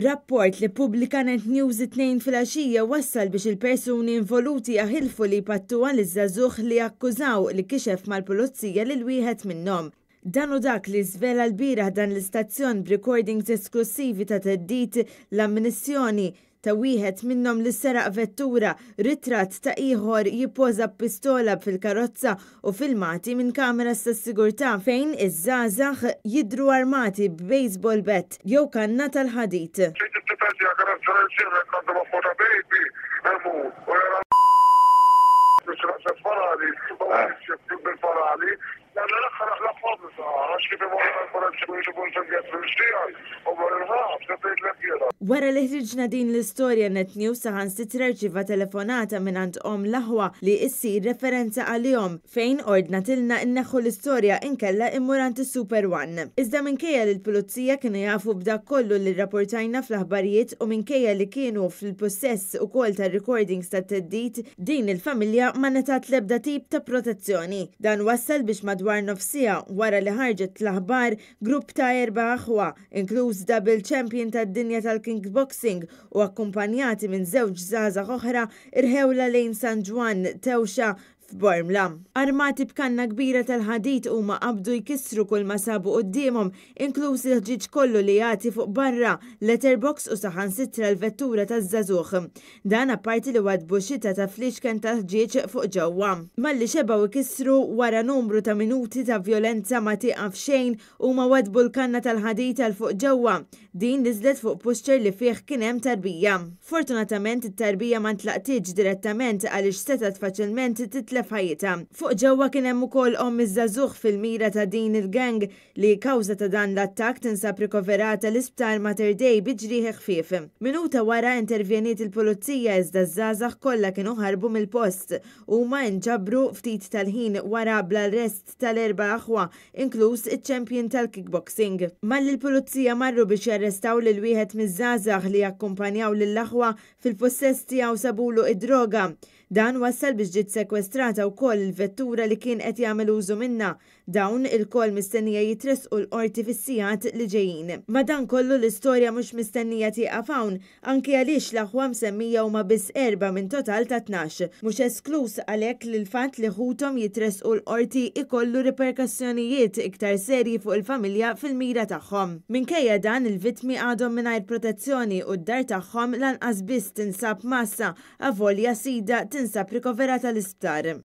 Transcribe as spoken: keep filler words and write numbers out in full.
Rapport li ppubblika Net News it-Tnejn filgħaxija wassal biex il-persuni involuti jaħilfu li jpattuha liż-żagħżugħ li akkużaw li kixef mal-pulizija lil wieħed minnhom. Dan hu dak li żvela lbieraħ dan l-istazzjon b'recordings esklussivi ta' theddid, l-ammissjoni ta' wieħed minnhom li seraq vettura, ritratt ta' ieħor jippoża pistola fil-karozza u filmati minn kameras tas-sigurtà fejn iż-żgħażagħ jidhru armati b'baseball bat jew kanna tal-ħadid. Tifel tiegħek għandu ma' baby, u jara bil-parali, Wara li ħriġna din l-istorja, Net News saħansitra rċieva telefonata mingħand omm l-aħwa li issir referenza għalihom, fejn ordnatilna nneħħu l-istorja inkella immur għand is-Super One. Iżda minkejja li l-pulizija kienu jafu b'dak kollu li rrapportajna fl-aħbarijiet u minkejja li kienu fil-pussess ukoll tar-recordings tat-theddid, din il-familja ma ngħatat l-ebda tip ta' protezzjoni. Dan wassal biex madwar nofs siegħa wara li ħarġet l-aħbar, grupp ta' erba' aħwa, inkluż double champion tad-dinja tal-kickboxing u akkumpanjati minn żewġ żgħażagħ oħra, irħewla lejn San Ġwann Tewxa f'Bormla. Armati b'kanna kbira tal-ħadid, huma qabdu jkissru kull ma sabu quddiemhom, inkluż il-ħġieġ kollu li jagħti fuq barra, letterbox u saħansitra l-vettura taż-żagħżugħ. Dan apparti li wadbu xita ta' fliexken tal-ħġieġ fuq ġewwa. Malli xebgħu ikissru, wara numru ta' minuti ta' vjolenza ma tieqaf xejn, huma wadbu l-kanna tal-ħadid għal fuq ġewwa. Din niżlet fuq pushchair li fih kien hemm tarbija. Fortunatament, it-tarbija ma ntlaqtitx direttament għaliex setgħet faċilment titlef ħajjitha. Fuq ġewwa kien hemm ukoll omm iż-żagħżugħ fil-mira ta' din il-gang li kawża ta' dan l-attakk tinsab rikoverata l-isptar Mater Dei bi ġrieħi ħfief. Minuta wara intervjeniet il-pulizija, iżda ż-żgħażagħ kollha kienu ħarbu mill-post. Huma nġabru ftit tal-ħin wara bl-arrest tal-erba' aħwa, inkluż iċ-champion tal-kickboxing. Malli l-pulizija marru biex jarrestaw lil wieħed miż-żgħażagħ li jakkumpanjaw lill-aħwa, fil-possess tiegħu sabulu id-droga. Dan wassal biex ġiet sekwestrata wkoll il-vettura li kien qed jagħmel użu minnha. Dawn ilkoll mistennija jitressqu l-qorti fis-sigħat li ġejjin. Madankollu, l-istorja mhux mistennija tieqaf hawn, anke għaliex l-aħwa msemmija huma biss erba' minn total ta' tnax. Mhux esklus għalhekk li l-fatt li ħuthom jitressqu l-qorti ikollu riperkussjonijiet iktar serji fuq il-familja fil-mira tagħhom. Minkejja dan, il-vittmi għadhom mingħajr protezzjoni u d-dar tagħhom lanqas biss tinsab mgħassa, avolja sidha tinsab rikoverata l-isptar.